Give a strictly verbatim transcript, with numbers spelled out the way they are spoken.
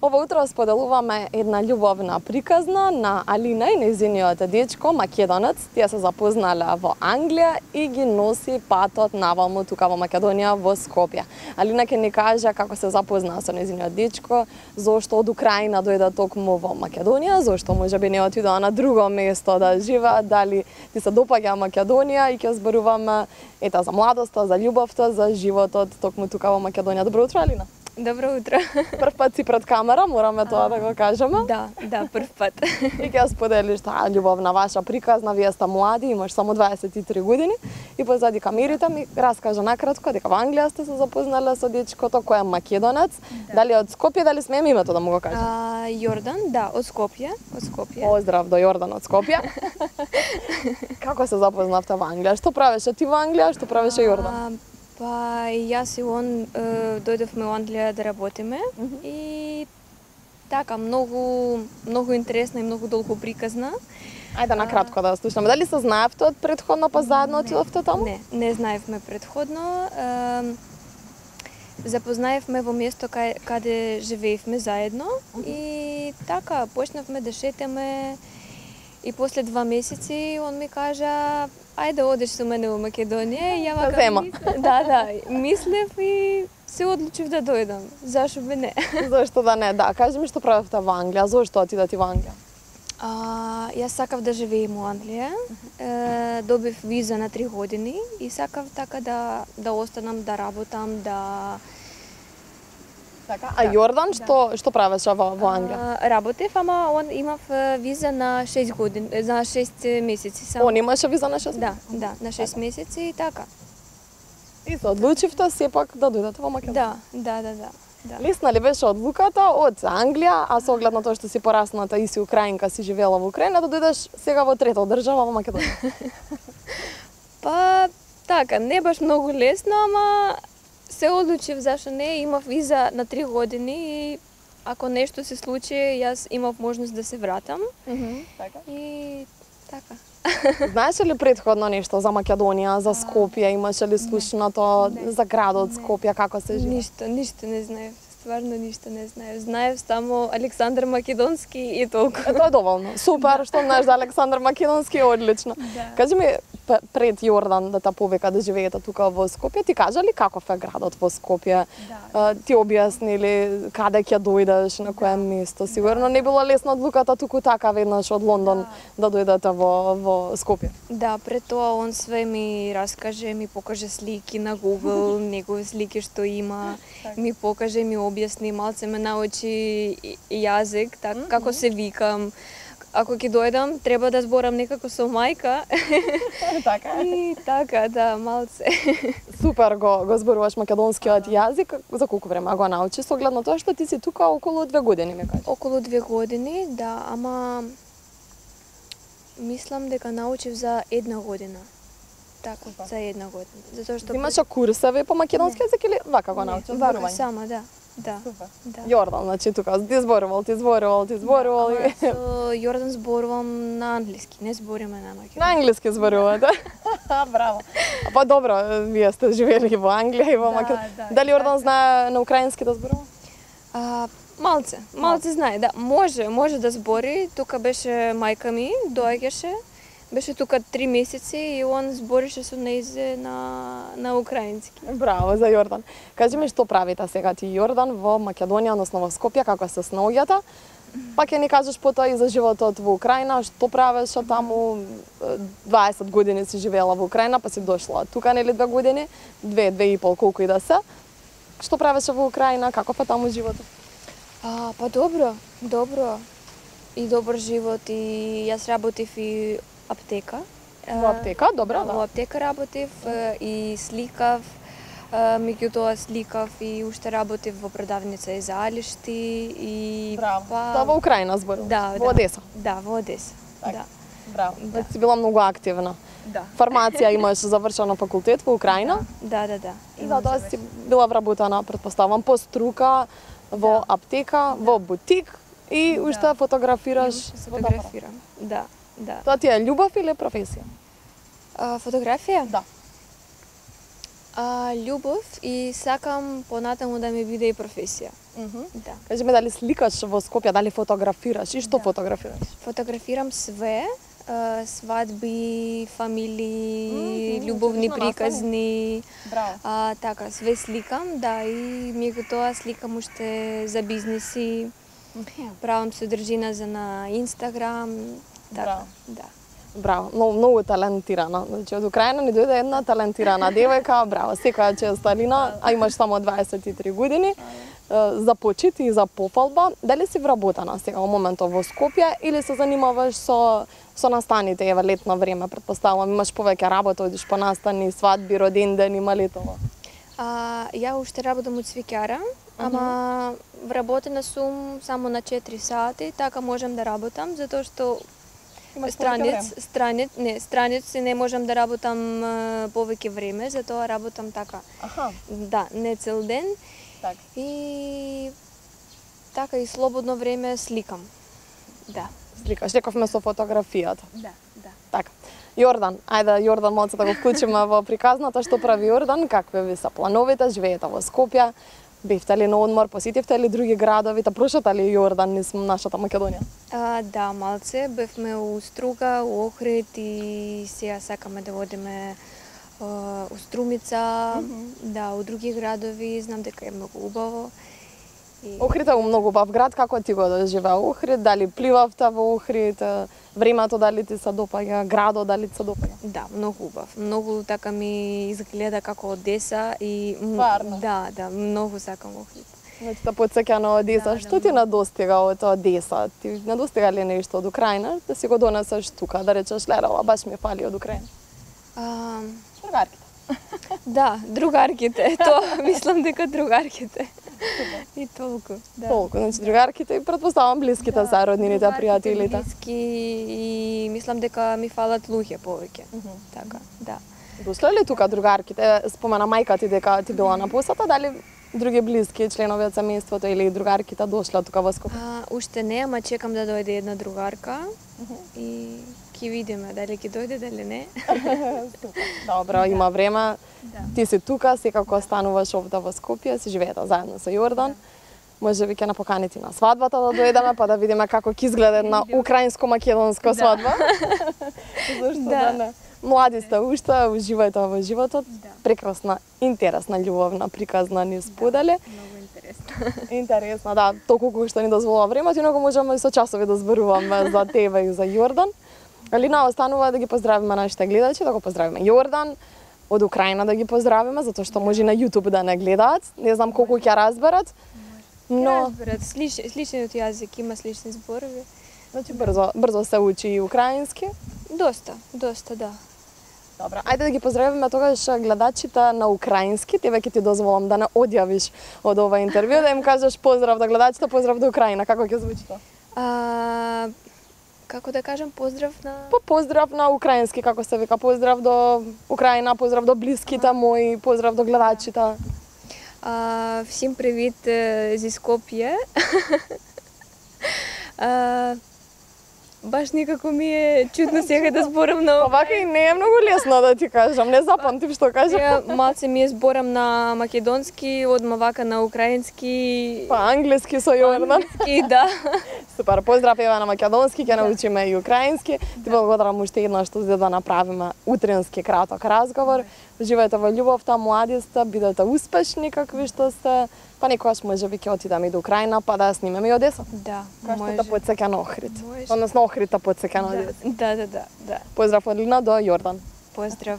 Ова утро споделуваме една љубовна приказна на Алина и нејзиниот дечко македонец. Тие се запознале во Англија и ги носи патот наваму тука во Македонија, во Скопје. Алина ќе ни каже како се запознаа со нејзиниот дечко, зошто од Украина дојде токму во Македонија, зошто можеби не отидоа на друго место да живеат, дали ти се допаѓа Македонија, и ќе зборуваме ета за младоста, за љубовта, за животот токму тука во Македонија. Добро утро, Алина. Добро утро. Прв пат си пред камера, мораме тоа да го кажеме. Да, да, прв пат. И ќе споделиш таа љубовна ваша приказна, вие сте млади, имаш само дваесет и три години и позади камерите ми раскажа накратко дека во Англија сте се запознале со дечкото кој е македонец. Да. Дали од Скопје, дали смеем името да му го кажем? А, Јордан, да, од Скопје, од Скопје. Поздрав до Јордан од Скопје. Како се запознавте во Англија? Што правеше ти во Англија, што правеше Јордан? Па јас и он е, дојдовме во Англија да работиме. Mm -hmm. И така многу многу интересна и многу долго приказна. Ајде на кратко да слушаме. Дали се знаевте од претходно па заедно отидовте таму? Не, не знаевме претходно. Е, запознаевме во место кај, каде живеевме заедно. Mm -hmm. И така почнавме да шетаме. И после два месеци он ми кажа: ајде одиш со мене во Македонија. И ја вака мислев, да, да, мислев и се одлучив да дојдам. Зашо би не? Зошто да не? Да, кажи ми што правевте во Англија, зошто отидете во Англија? А, јас сакав да живеем во Англија. Е, добив виза на три години и сакав така да да останам, да работам, да Така, а Јордан што да. што правеше во во Англија? А, работев, ама он имав виза на шест години, за шест месеци само. Он имаше виза на шест? Да, да, на шест така. месеци и така. И се одлучивте сепак да дојдете во Македонија? Да, да, да, да. Да. Лесна ли беше одлуката од Англија, а со оглед на тоа што си порасната и си украинка, си живеела во Украина, да дојдеш сега во трета држава во Македонија? Па така, не баш многу лесно, ама се одлучив зашо не, имав виза на три години и ако нешто се случи, јас имав можност да се вратам. Mm -hmm, така. И така. Знаеше ли претходно нешто за Македонија, за Скопје, имаше ли слушнато за градот Скопје, како се живее? Ништо, ништо не знаев. Стварно ништо не знаев. Знаев само Александар Македонски и толку. Е, тоа е доволно. Супер, што знаеш за Александар Македонски, е одлично. Да. Кажи ми, пред Јордан да те повика да живеете тука во Скопје, ти кажа ли каков е градот во Скопје? Да. Ти објасни ли каде ќе дојдеш, на кое да. место? Сигурно не била лесна одлуката туку така веднаш од Лондон да, да дојдете во во Скопје. Да, пред тоа он све ми раскаже, ми покаже слики на Google, негови слики што има, ми покаже, ми објасни, малце ме научи јазик, так, mm -hmm. како се викам. Ако ќе дојдам, треба да зборам некако со мајка. Така. И така, да, малце. Супер го го зборуваш македонскиот јазик. За колку време го научи, со оглед на тоа што ти си тука околу две години, ме кажеш? Околу две години, да, ама мислам дека научив за една година. Така, Супер. За една година. Затоа што имаше курсеви по македонски јазик или вака го научиш? Вака сама, да. Да. Супер. Да. Јордан, значи тука ти зборувал, ти зборувал, ти зборувал. Да, ама со Јордан зборувам на англиски, не збориме на македонски. На англиски зборувате? Браво. Па добро, вие сте живели во Англија и во да, Македонија. Да, Дали Јордан знае на украински да зборува? А, малце, малце знае, да. Може, може да збори. Тука беше мајка ми, доаѓаше. Беше тука три месеци и он зборише со нејзе на на украински. Браво за Јордан. Кажи ми што правите сега ти Јордан во Македонија, односно во Скопје, како се снаоѓате? Па ќе ни кажеш потоа и за животот во Украина, што правеше таму? дваесет години си живеела во Украина, па си дошла тука нели две години, две, две и пол, колку и да се. Што правеше во Украина, каков е таму животот? А, па добро, добро. И добар живот, и јас работев и аптека. Во аптека, добро, да. Во аптека работев и сликав, меѓутоа сликав и уште работев во продавница и за алишти и Браво. Па... Тоа во Украина зборуваш? Да, во Одеса. Да, во Одеса. Так. Да. Браво. Да. Си била многу активна. Да. Фармација имаш завршено факултет во Украина? Да, да, да. И за тоа си била вработена, претпоставам, по струка во да. аптека, да. во бутик и уште да. фотографираш. Фотографирам. Да. Да. Тоа ти е љубов или професија? А, фотографија? Да. А, љубов и сакам понатаму да ми биде и професија. Да. Кажи ме, дали сликаш во Скопје, дали фотографираш и што Да. фотографираш? Фотографирам све, а, свадби, фамилии, Мгм, љубовни одлично приказни. Браво. А, така, све сликам, да, и меѓу тоа сликам уште за бизниси, правам содржина за на Инстаграм, така, Браво. да. Браво, многу, многу талентирана. Значи, од Украина ни дојде една талентирана девојка, браво, секоја чест Алина, а имаш само дваесет и три години. Е, За почит и за пофалба, дали си вработена сега во моментот во Скопје или се занимаваш со со настаните, еве летно време, претпоставувам, имаш повеќе работа, одиш по настани, свадби, роденден, има летово. А, ја уште работам од свеќара, ама вработена сум само на четири сати, така можам да работам, затоа што Имаш странец, странец, не, странец не можам да работам а, повеќе време, затоа работам така. Аха, Да, не цел ден. така. И така и слободно време сликам. Да. Сликаш, рековме со фотографијата. Да, да. Така. Јордан, ајде Јордан малце да го вклучиме во приказната, што прави Јордан, какви ви се плановите, живеете во Скопје, бевте ли на одмор, посетивте ли други градови, та прошата ли Јордан низ нашата Македонија? А, да, малце бевме у Струга, у Охрид и сега сакаме да одиме а, у Струмица, да, у други градови, знам дека е многу убаво. И... Охрид е многу убав град, како ти го доживеа Охрид, дали пливавте во Охрид, е, времето дали ти се допаѓа, градот дали ти се допаѓа? Да, многу убав. Многу така ми изгледа како Одеса и м, Стварно? да, да, многу сакам Охрид. Значи те потсеќа на Одеса. Да, да, Што ти недостига од Одеса? Ти недостига ли нешто од Украина да си го донесеш тука, да речеш лелела, баш ми фали од Украина? А, Другарките. да, другарките. Тоа мислам дека другарките. И толку. Да. Толку, значи другарките и претпоставам блиските се роднините, Другарките, пријателите. блиски и мислам дека ми фалат луѓе повеќе. Така, да. Дошле ли тука другарките? Спомена мајка ти дека ти била на посета, дали други блиски членови од семејството или другарките дошле тука во Скопје? А, уште не, ама чекам да дојде една другарка и ќе видиме дали ќе дојде, дали не. Добро, има време. Да. Ти си тука, секако остануваш овде во Скопје, си живеете заедно со Јордан. Може би ќе напоканите на свадбата да дојдеме, па да видиме како ќе изгледа една украинско-македонска свадба. Зашто да Да. не? Млади сте уште, уживајте во животот. Да. Прекрасна, интересна, љубовна приказна ни сподели. Многу интересно. Интересно, да, толку колку што ни дозволува времето, инаку можеме и со часови да зборуваме за тебе и за Јордан. Алина, останува да ги поздравиме нашите гледачи, да го поздравиме Јордан, од Украина да ги поздравиме, затоа што може и на YouTube да не гледаат. Не знам колку ќе разберат, но Разберат, слич, сличниот јазик, има слични зборови. значи брзо, брзо се учи и украински. Доста, доста, да. Добро, ајде да ги поздравиме тогаш гледачите на украински. Тебе ќе ти дозволам да не одјавиш од ова интервју, да им кажеш поздрав до гледачите, поздрав до Украина. Како ќе звучи тоа? А, како да кажам, поздрав на... Па поздрав на украински, како се вика, поздрав до Украина, поздрав до блиските мои, поздрав до гледачите. А, всім привіт е, зі Скопје. а, баш некако ми е чудно сега да зборам на... Овака и не е многу лесно да ти кажам, не запамтив што кажам. Ја малце ми е зборам на македонски, одма вака на украински. Па англиски со Јордан. И да. Супер, поздрав еве на македонски, ќе научиме и украински. Ти благодарам уште еднаш што за да направиме утренски краток разговор. Живеете во љубовта, млади сте, бидете успешни какви што сте. Па некогаш може би ќе отидеме и до Украина, па да ја снимеме и Одеса. Да, Кај што може. те потсеќа на Охрид. Може. Односно Охрид те потсеќа на Одеса. Да, да, да, да. Поздрав од Лина до Јордан. Поздрав.